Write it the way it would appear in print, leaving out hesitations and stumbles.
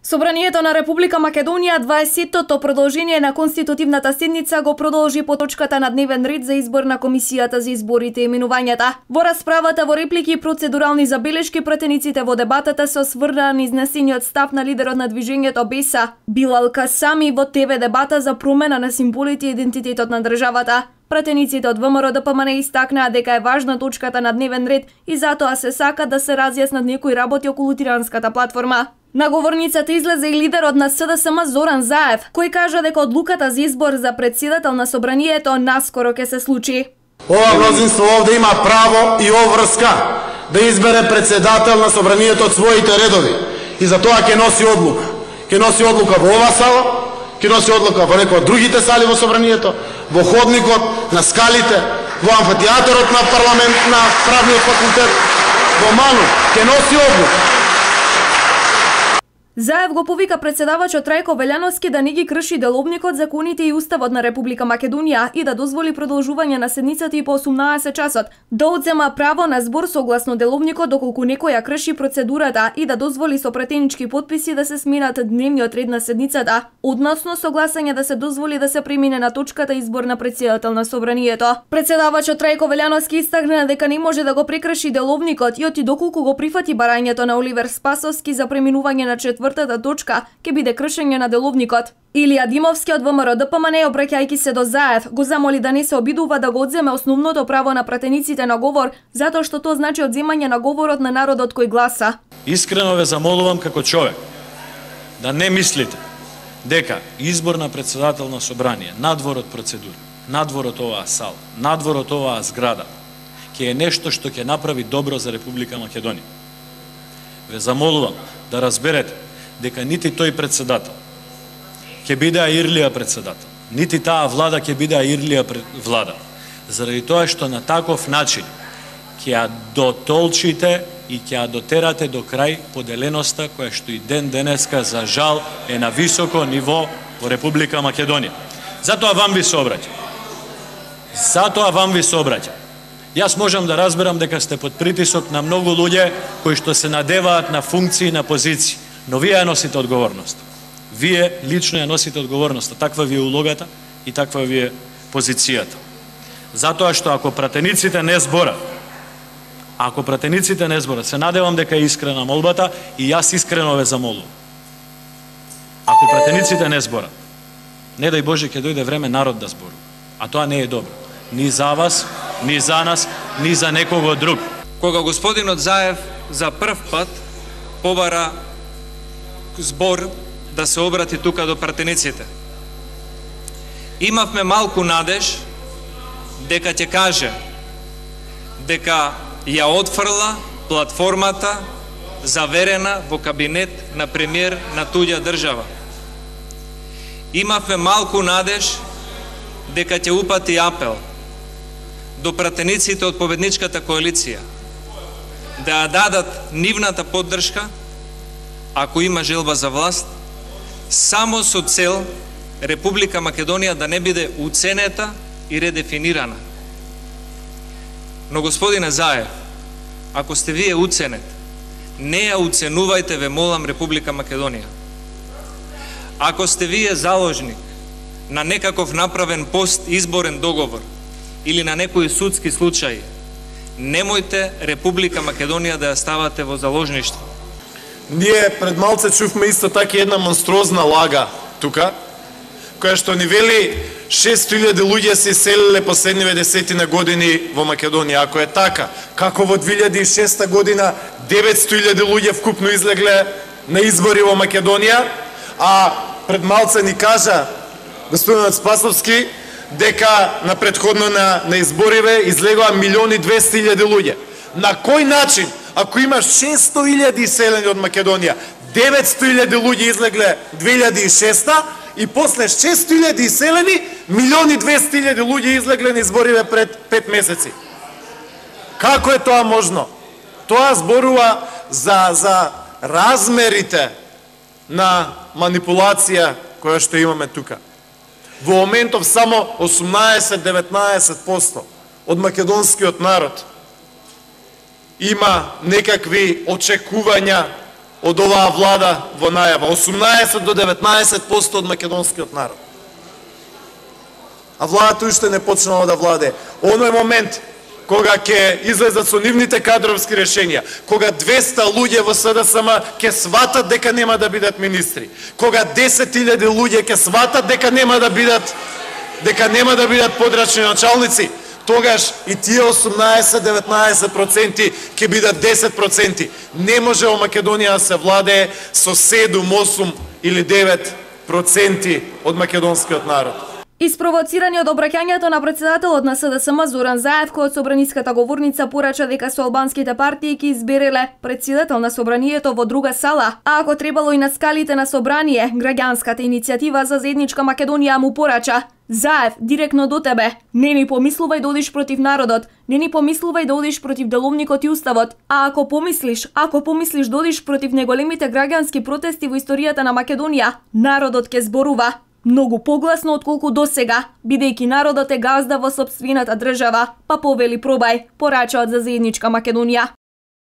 Собранието на Република Македонија 20-тото продолжение на конститутивната седница го продолжи по точката на дневен ред за избор на Комисијата за изборите и именувањата. Во расправата, во реплики и процедурални забелешки, пратениците во дебатата се осврнаа на изнесениот став на лидерот на движењето БЕСА, Билал Касами, во ТВ дебата за промена на символите и идентитетот на државата. Пратениците од ВМРО-ДПМН истакнаа дека е важна точката на дневен ред и затоа се сака да се разјаснат некои работи околу тиранската платформа. На говорницата излезе и лидерот на СДСМ Зоран Заев, кој кажа дека одлуката за избор за претседател на собранието наскоро ќе се случи. Ова мнозинство овде има право и обврска да избере претседател на собранието од своите редови и за тоа ќе носи одлука. Ќе носи одлука во ова сала, ќе носи одлука во некои од другите сали во собранието, во ходникот, на скалите, во амфитеатарот на парламент, на правниот факултет, во Ману, ќе носи одлука. Заев го повика претседавачот Трајко Велјановски да не ги крши деловникот, законите и уставот на Република Македонија и да дозволи продолжување на седницата и по 18 часот, да одзема право на збор согласно деловникот доколку некој ја крши процедурата и да дозволи со пратенички потписи да се сменат дневниот ред на седницата, односно согласање да се дозволи да се премине на точката избор на претседател на собранието. Претседавачот Трајко Велјановски истакна дека не може да го прекрши деловникот и оти доколку го прифати барањето на Оливер Спасовски за преминување на четвртата точка ќе биде кршење на деловникот. Илија Димовски од ВМРО-ДПМН, обраќајќи се до Заев, го замоли да не се обидува да го одземе основното право на пратениците на говор, затоа што тоа значи одземање на говорот на народот кој гласа. Искрено ве замолувам како човек да не мислите дека избор на претседател на собрание, надвор од процедура, надвор од оваа сала, надвор од оваа зграда, ќе е нешто што ќе направи добро за Република Македонија. Ве замолувам да разберете дека нити тој председател ќе биде Ирлија председател, нити таа влада ќе биде Ирлија влада, заради тоа што на таков начин ќе ја дотолчите и ќе ја дотерате до крај поделеноста која што и ден денеска за жал е на високо ниво во Република Македонија. Затоа вам ви се обраќам. Затоа вам ви се обраќам. Јас можам да разберам дека сте под притисок на многу луѓе кои што се надеваат на функции и на позиции, но вие ја носите одговорност. Вие лично ја носите одговорноста, таква ви е улогата и таква ви е позицијата. Затоа што ако пратениците не зборат, се надевам дека е искрена молбата и јас искрено ве замолувам. Ако пратениците не зборат, не дај Боже ќе дојде време народ да зборува, а тоа не е добро. Ни за вас, ни за нас, ни за некого друг. Кога господинот Заев за прв пат побара збор да се обрати тука до пратениците, имавме малку надеж дека ќе каже дека ја отфрла платформата заверена во кабинет на премиер на туѓа држава. Имавме малку надеж дека ќе упати апел до пратениците од победничката коалиција да ја дадат нивната поддршка ако има желба за власт, само со цел Република Македонија да не биде уценета и редефинирана. Но господине Заев, ако сте вие уценет, не ја уценувајте, ве молам, Република Македонија. Ако сте вие заложник на некаков направен пост изборен договор или на некои судски случаи, немојте Република Македонија да ја ставате во заложништво. Ние пред малце чувме исто така една монструозна лага тука, која што ни вели 600.000 луѓе се иселиле последниве 10 години во Македонија. Ако е така, како во 2006 година 900.000 луѓе вкупно излегле на избори во Македонија, а пред малце ни кажа господинот Спасовски дека на предходно на избориве излегоа 1.200.000 луѓе. На кој начин, ако имаш 600.000 иселени од Македонија, 900.000 луѓе излегле 2006 и после 600.000 иселени, 1.200.000 луѓе излегле на избориве пред 5 месеци? Како е тоа можно? Тоа зборува за размерите на манипулација која што имаме тука. Во моментов само 18-19% од македонскиот народ има некакви очекувања од оваа влада во најава. 18 до 19% од македонскиот народ. А владата уште не почнала да владе. Оној момент кога ќе излезат со нивните кадровски решенија, кога 200 луѓе во СДСМ ќе сватат дека нема да бидат министри, кога 10.000 луѓе ќе сватат дека нема да бидат подрачни началници, тогаш и тие 18-19% ќе бидат 10%. Не може во Македонија да се владее со 7, 8 или 9% од македонскиот народ. Испровоцирани од обраќањето на председателот на СДСМ Зоран Заев, кој од собраниската говорница порача дека со албанските партии ќе избереле председател на собранието во друга сала, а ако требало и на скалите на собрание, граѓанската иницијатива за заедничка Македонија му порача: Заев, директно до тебе, не ни помислувај да одиш против народот, не ни помислувај да одиш против деловникот и уставот, а ако помислиш да одиш против неголемите граѓански протести во историјата на Македонија, народот ќе зборува многу погласно отколку досега, бидејќи народот е газда во сопствената држава, па повели пробај, порачаат за заедничка Македонија.